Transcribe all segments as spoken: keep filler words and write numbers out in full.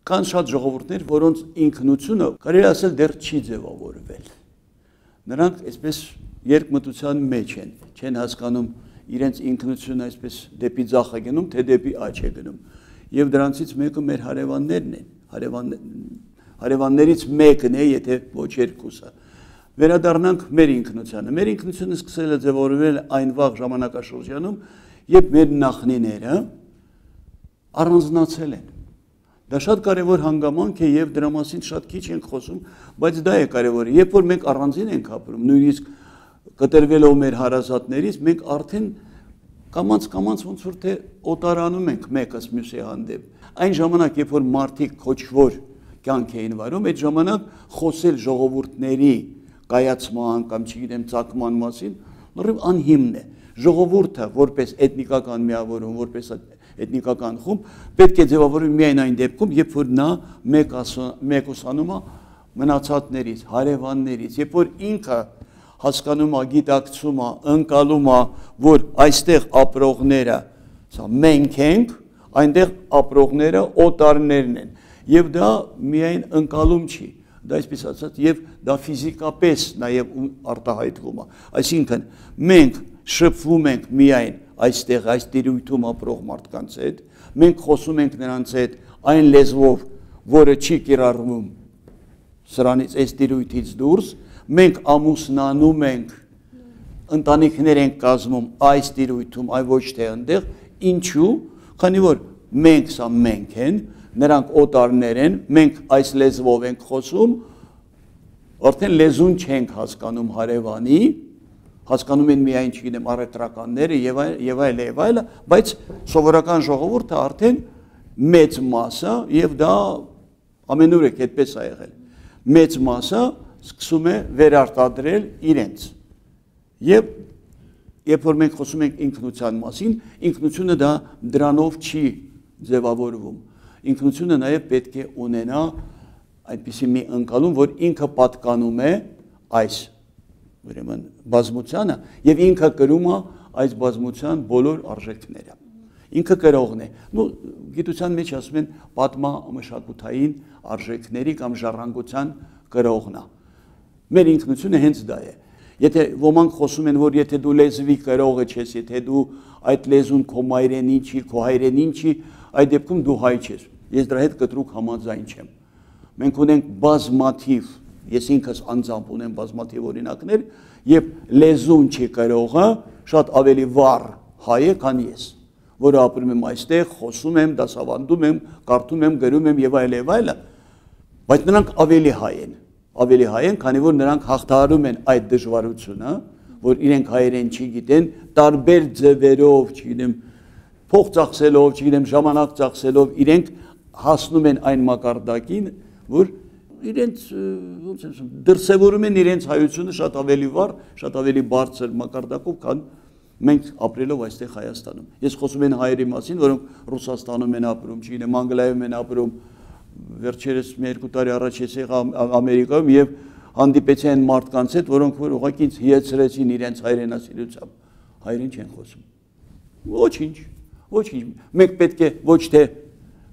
Կան շատ ժողովուրդներ, որոնց ինքնությունը կարելի ասել դեռ չի ձևավորվել։ Նրանք այսպես երկմտության մեջ են, չեն հասկանում իրենց ինքնությունը այսպես դեպի ձախ է գնում, թե դեպի աջ է գնում։ Եվ դրանցից մեկը մեր հարևաններն են, հարևան, հարևաններից մեկն է, եթե ոչ երկուսը։ Վերադառնանք մեր ինքնությանը։ Մեր ինքնությունը սկսել է ձևավորվել այն վաղ ժամանակաշրջանում, երբ մեր նախնիները առանձնացել են։ Դա շատ կարևոր հանգամանք է եւ դրա մասին շատ քիչ ենք խոսում, բայց դա է կարևորը։ Երբ որ մենք առանձին ենք ապրում, նույնիսկ կտրվելով մեր հարազատներից, մենք արդեն կամաց-կամաց ոնց որ թե օտարանում ենք մեկս մյուսի հանդեպ։ Այն ժամանակ, երբ որ մարդիկ քոչվոր կյանք էին վարում, այդ ժամանակ խոսել ժողովուրդների կայացման կամ չգիտեմ ծագման մասին լրիվ անհիմն է։ Ժողովուրդը որպես էթնիկական միավորում, որպես էթնիկական խումբ պետք է ձևավորվի միայն այն դեպքում, երբ որ նա մեկուսանում է մնացածներից, հարևաններից, երբ որ ինքը հասկանում է, գիտակցում է, ընկալում է, որ այստեղ ապրողները մենք ենք, այնտեղ ապրողները օտարներն են, եւ դա միայն ընկալում չի, դա այսպես ասած, եւ դա ֆիզիկապես նաեւ արտահայտվում է, այսինքն մենք շփվում ենք միայն այստեղ այս տիրույթում ապրող մարդկանց հետ, մենք խոսում ենք նրանց հետ այն լեզվով, որը չի կիրառվում սրանից այս տիրույթից դուրս, մենք ամուսնանում ենք, ընտանիքներ ենք կազմում այս տիրույթում, այ ոչ թե այնտեղ, ինչու, քանի որ մենք սա մենք են, նրանք օտարներ են, մենք այս լեզվով ենք խոսում, արդեն լեզուն չենք հասկանում հարևանի, հասկանում են միայն չգիտեմ առևտրականները եւ այլ եւ այլ եւ այլ, բայց սովորական ժողովուրդը արդեն մեծ մասը եւ դա ամենուրեք այդպես է եղել։ Մեծ մասը սկսում է վերարտադրել իրենց։ Եվ երբ որ մենք խոսում ենք ինքնության մասին, ինքնությունը դա դրանով չի ձևավորվում։ Ինքնությունը նաեւ պետք է ունենա այնպիսի մի ընկալում, որ ինքը պատկանում է այս ուրեմն բազմությանը եւ ինքը կրում է այս բազմության բոլոր արժեքները։ Ինքը կրողն է։ Նու գիտության մեջ ասում են պատմամշակութային արժեքների կամ ժառանգության կրողն է։ Մեր ինքնությունը հենց դա է։ Եթե ոմանք խոսում են, որ եթե դու լեզվի կրողը ես, եթե դու այդ լեզուն քո մայրենին չի, քո հայրենին չի, այդ դեպքում դու հայ ես։ Ես դրա հետ կտրուկ համաձայն չեմ։ Մենք ունենք բազմաթիվ, ես ինքս անձամբ ունեմ բազմաթիվ օրինակներ, եւ լեզուն չի կրողը շատ ավելի վառ հայ է, քան ես, որը ապրում եմ այստեղ, խոսում եմ, դասավանդում եմ, կարդում եմ, գրում եմ եւ այլ եւ այլ, բայց նրանք ավելի հայ են, ավելի հայ են, քանի որ նրանք հաղթահարում են այդ դժվարությունը, որ իրենք հայերեն չգիտեն, տարբեր ձևերով, չգիտեմ, փող ծախսելով, չգիտեմ, ժամանակ ծախսելով, իրենք հասնում են այն մակարդակին, որ իրենց ոնց եմ ասում, դրսևորում են իրենց հայությունը շատ ավելի վառ, շատ ավելի բարձր մակարդակով, քան մենք ապրելով այստեղ Հայաստանում։ Ես խոսում եմ հայերի մասին, որոնք Ռուսաստանում են ապրում, չգիտեմ, Անգլիայում են ապրում, վերջերս մի երկու տարի առաջ ես եղա Ամերիկայում եւ հանդիպեցի այն մարդկանց հետ, որոնք որ ուղղակի ինձ հիացրեցին իրենց հայրենասիրությամբ։ Հայերեն չեն խոսում։ Ոչինչ, ոչինչ։ Մենք պետք է ոչ թե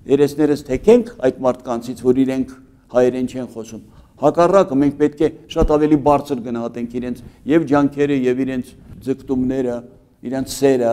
երեսներս թեքենք այդ մարդկանցից, որ իրենք հայերեն չեն խոսում։ Հակառակը մենք պետք է շատ ավելի բարձր գնահատենք իրենց եւ ջանքերը եւ իրենց ձգտումները, իրենց սերը